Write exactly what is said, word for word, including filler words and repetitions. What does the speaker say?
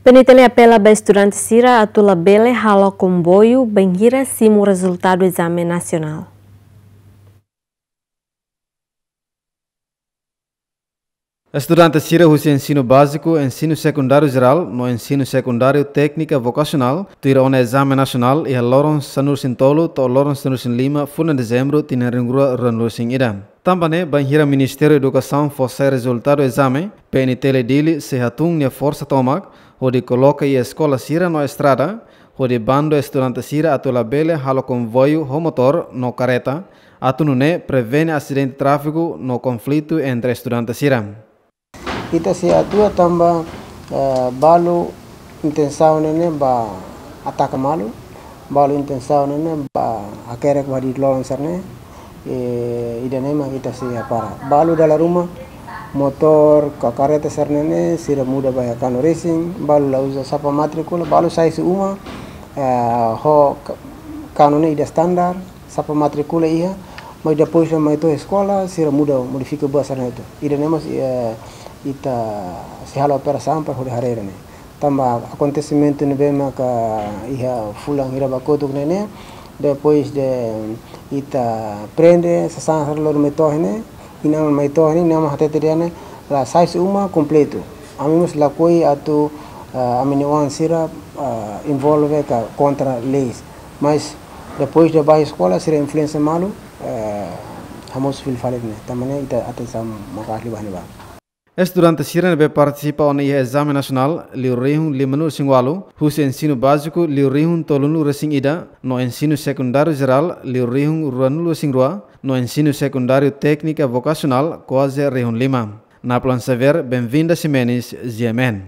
PNTL apela ba estudante sira atu labele halo komboiu bainhira simu rezultadu ezame nasionál. Estudante sira husi ensinu báziku, ensinu sekundáriu jerál no ensinu sekundáriu téknika vokasionál tuir ona ezame nasionál iha loron sanulu-resin-tolu to'o loron sanulu-resin-lima fulan Dezembru tinan rihun rua ruanulu-resin-ida. Tanba ne'e, bainhira Ministériu Edukasaun fó sai rezultadu ezame, PNTL Dili sei hatún nia forsa tomak hodi koloka iha eskola sira no estrada, hodi bandu estudante sira atu labele halo komboiu ho motór no kareta, atu nune'e prevene asidente tráfiku no konflitu entre estudante sira. Ita sei atua tanba, eh, balu intensaun ne'e ba ataka malu, balu intensaun ne'e ba hakerek ba di loron sira-ne'e, eh, ida-ne'e mak ita sei hapara. Balu dala ruma, motór ka kareta sira-ne'e, sira muda ba iha kanu resin, balu la uza sapa matríkula, balu sai husi uma, eh, ho ka-, kanu ne'e ida standar, sapa matríkula iha, mas depois mai to'o eskola, sira muda, modifika buat sira-ne'e hotu. Ida-ne'e mós, eh, ita sei halo operasaun para hodi haree ida-ne'e. Tanba akontesimentu ne'ebé maka iha fulan hira ba kotuk ne'e ne'e, depois de ita prende, sasán sira lori mai to'o ne'e, inan mai to'o ne'e, inan hatete dehan ne'e, la sai husi uma kompletu. Ami mós lakohi atu, eh, ami-nia oan sira, eh, envolve ka kontra leis. Mas depois de ba eskola, sira influénsia malu, eh, hamosu fila fali ne'e. Tanba ne'e ita atensaun maka'as liu ba ne'ebá. Estudante sira ne'ebé partisipa ona iha ezame nasionál liu rihun limanulu-resin-ualu, husi ensinu báziku liu rihun tolunulu-resin-ida, no ensinu sekundáriu jerál liu rihun ruanulu-resin-rua, no ensinu sekundáriu téknika vokasionál kuaze rihun lima. Naplan Xavier, Benvinda Ximenes, G M N.